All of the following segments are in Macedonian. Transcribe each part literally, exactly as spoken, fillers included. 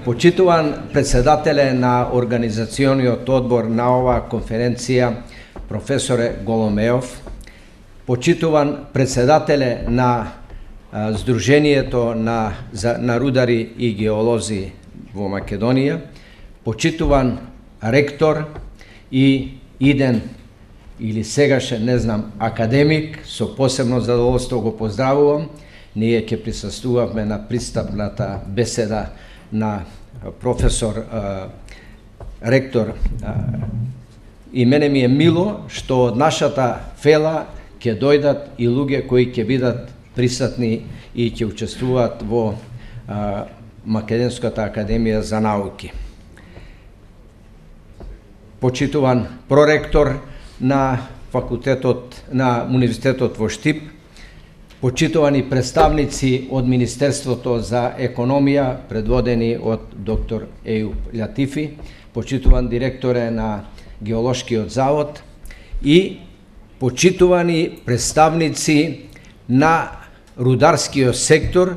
Почитуван председателе на организациониот одбор на оваа конференција, професоре Голомеов, почитуван председателе на Сдруженијето на, на рудари и геолози во Македонија, почитуван ректор и иден или сегашен, не знам, академик, со посебно задоволство го поздравувам. Ние ќе присуствувавме на пристапната беседа на професор, а, ректор, а, и мене ми е мило што од нашата фела ќе дојдат и луѓе кои ќе бидат присутни и ќе учествуваат во а, Македонската академија за науки. Почитуван проректор на факултетот на Универзитетот во Штип, почитувани представници од Министерството за економија, предводени од доктор Ејуп Латифи, почитуван директоре на Геолошкиот завод и почитувани представници на рударскиот сектор,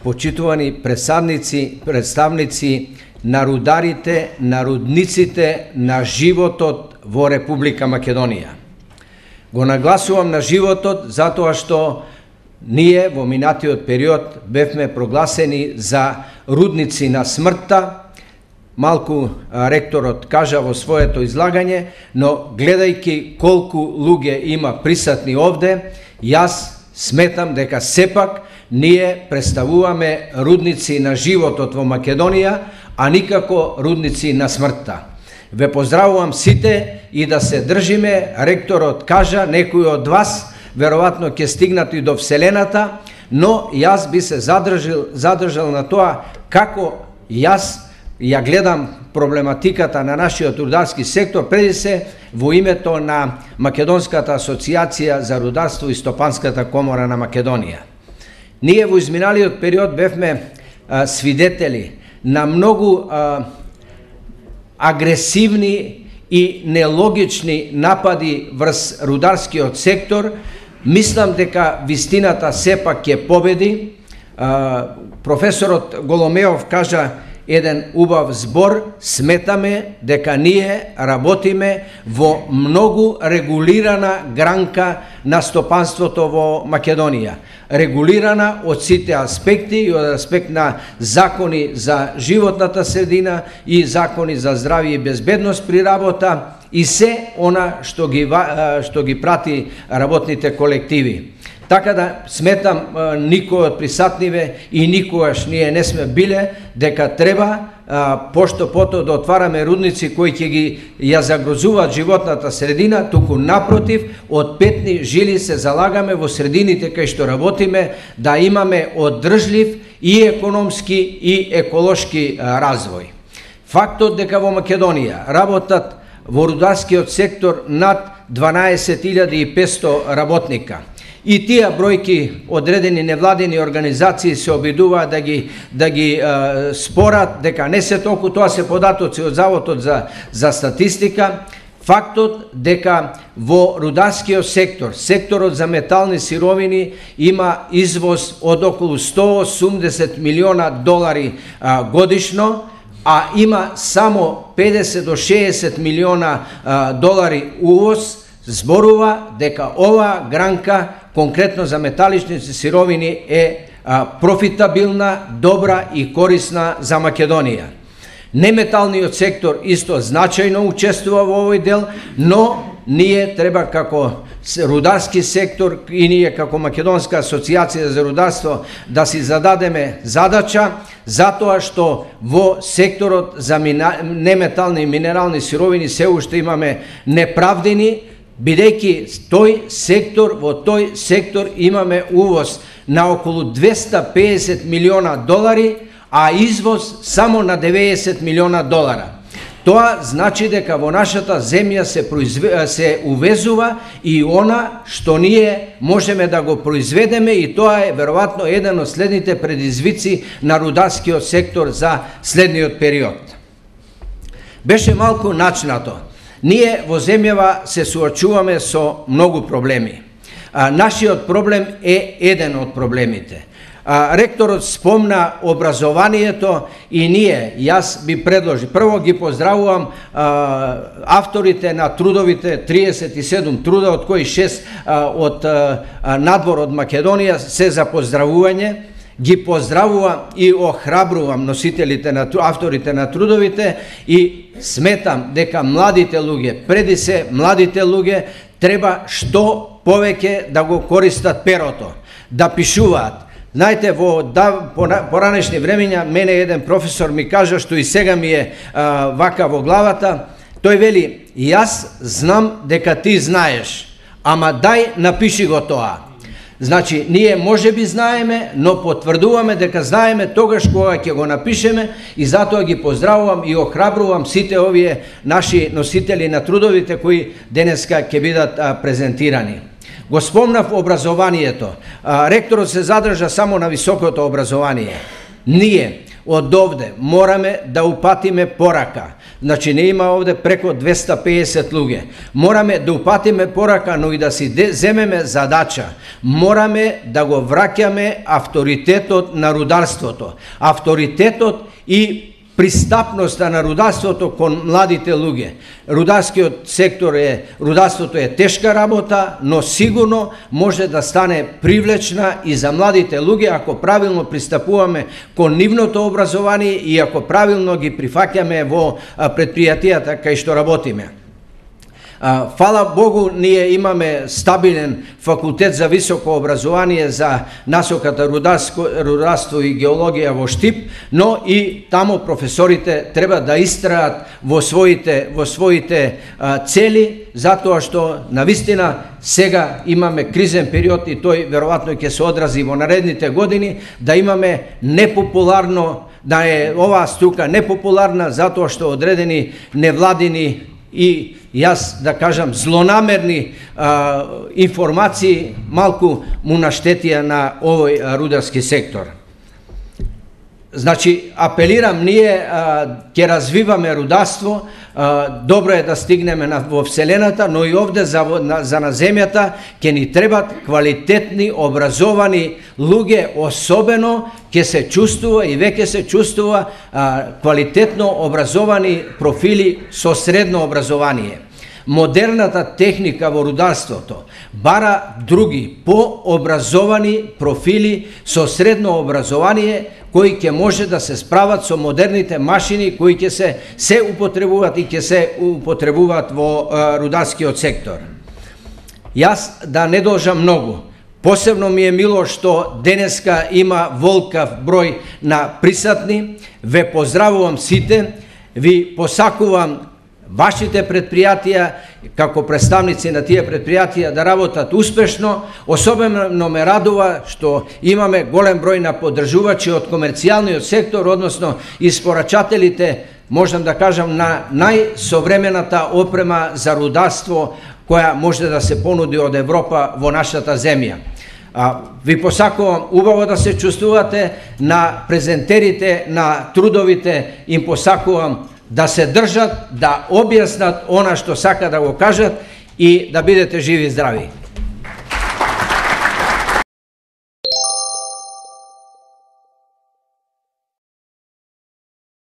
почитувани представници, представници на рударите, на рудниците, на животот во Република Македонија. Го нагласувам на животот затоа што ние во минатиот период бевме прогласени за рудници на смртта. Малку ректорот кажа во своето излагање, но гледајќи колку луѓе има присутни овде, јас сметам дека сепак ние представуваме рудници на животот во Македонија, а никако рудници на смртта. Ве поздравувам сите и да се држиме, ректорот кажа, некои од вас веројатно ќе стигнат и до Вселената, но јас би се задржал, задржал на тоа како јас ја гледам проблематиката на нашиот рударски сектор, преди се во името на Македонската асоциација за рударство и Стопанската комора на Македонија. Ние во изминалиот период бевме а, свидетели на многу а, агресивни и нелогични напади врз рударскиот сектор. Мислам дека вистината сепак ќе победи. А, професорот Голомеов кажа еден убав збор, сметаме дека ние работиме во многу регулирана гранка на стопанството во Македонија. Регулирана од сите аспекти, и од аспект на закони за животната средина и закони за здравје и безбедност при работа и се она што ги, што ги прати работните колективи. Така да сметам, никој од присутниве и никогаш ние не сме биле дека треба пошто пото да отвараме рудници кои ќе ги ја загрозуваат животната средина, туку напротив, од петни жили се залагаме во средините кај што работиме да имаме одржлив и економски и еколошки развој. Фактот дека во Македонија работат во рударскиот сектор над дванаесет илјади и петсто работника. И тие бројки одредени невладени организации се обидуваат да ги да ги е, спорат дека не се толку, тоа се податоци од Заводот за за статистика. Фактот дека во рударскиот сектор, секторот за метални сировини има извоз од околу сто осумдесет милиона долари а, годишно, а има само педесет до шеесет милиона а, долари увоз, зборува дека оваа гранка конкретно за металичните сировини е а, профитабилна, добра и корисна за Македонија. Неметалниот сектор исто значајно учествува во овој дел, но ние треба како рударски сектор и ние како Македонска асоциација за рударство да си зададеме задача, затоа што во секторот за неметални и минерални сировини се уште имаме неправдени, бидејќи тој сектор, во тој сектор имаме увоз на околу двесте педесет милиона долари, а извоз само на деветдесет милиона долара. Тоа значи дека во нашата земја се, произве... се увезува и она што ние можеме да го произведеме, и тоа е веројатно еден од следните предизвици на рударскиот сектор за следниот период. Беше малку начнато. Ние во земјава се суочуваме со многу проблеми. А, нашиот проблем е еден од проблемите. А, ректорот спомна образованието и ние, јас би предложи, прво ги поздравувам а, авторите на трудовите, триесет и седум труда, од кои шест а, од а, надвор од Македонија, се за поздравување. Ги поздравувам и охрабрувам носителите на авторите на трудовите и сметам дека младите луѓе, преди се младите луѓе, треба што повеќе да го користат перото, да пишуваат. Знаете, во да, поранешни времења, мене еден професор ми кажа, што и сега ми е а, вака во главата, тој вели, јас знам дека ти знаеш, ама дај напиши го тоа. Значи, ние може би знаеме, но потврдуваме дека знаеме тогаш кога ќе го напишеме и затоа ги поздравувам и охрабрувам сите овие наши носители на трудовите кои денеска ќе бидат а, презентирани. Го спомнав образованието. А, ректорот се задржа само на високото образование. Ние од овде мораме да упатиме порака. Значи не има овде преко двеста пеесет луѓе. Мораме да упатиме порака, но и да си земеме задача. Мораме да го враќаме авторитетот на рударството. Авторитетот и пристапноста на рударството кон младите луѓе. Рударскиот сектор е, рударството е тешка работа, но сигурно може да стане привлечна и за младите луѓе ако правилно пристапуваме кон нивното образование и ако правилно ги прифаќаме во предпријатијата кај што работиме. Фала Богу, ние имаме стабилен факултет за високо образование за насоката рударство и геологија во Штип, но и тамо професорите треба да истраат во своите во своите а, цели, затоа што навистина сега имаме кризен период и тој веројатно ќе се одрази во наредните години, да имаме непопуларно, да е оваа струка непопуларна затоа што одредени невладини и јас да кажам злонамерни а, информации малку му наштетија на овој а, рударски сектор. Значи, апелирам, ние ќе развиваме рударство, а, добро е да стигнеме на, во Вселената, но и овде за, на, за на земјата ќе ни требат квалитетни, образовани луѓе, особено ќе се чувствува и веќе се чувствува а, квалитетно образовани профили со средно образование. Модерната техника во рударството бара други пообразовани профили со средно образование кои ќе може да се справат со модерните машини кои ќе се се употребуваат и ќе се употребуваат во а, рударскиот сектор. Јас да не должам многу. Посебно ми е мило што денеска има волкав број на присатни. Ве поздравувам сите, ви посакувам вашите предпријатија, како представници на тие предпријатија, да работат успешно. Особено ме радува што имаме голем број на поддржувачи од комерцијалниот сектор, односно испорачателите, можам да кажам, на најсовремената опрема за рударство која може да се понуди од Европа во нашата земја. А, ви посакувам убаво да се чувствувате, на презентерите на трудовите им посакувам да се држат, да објаснат она што сака да го кажат и да бидете живи и здрави.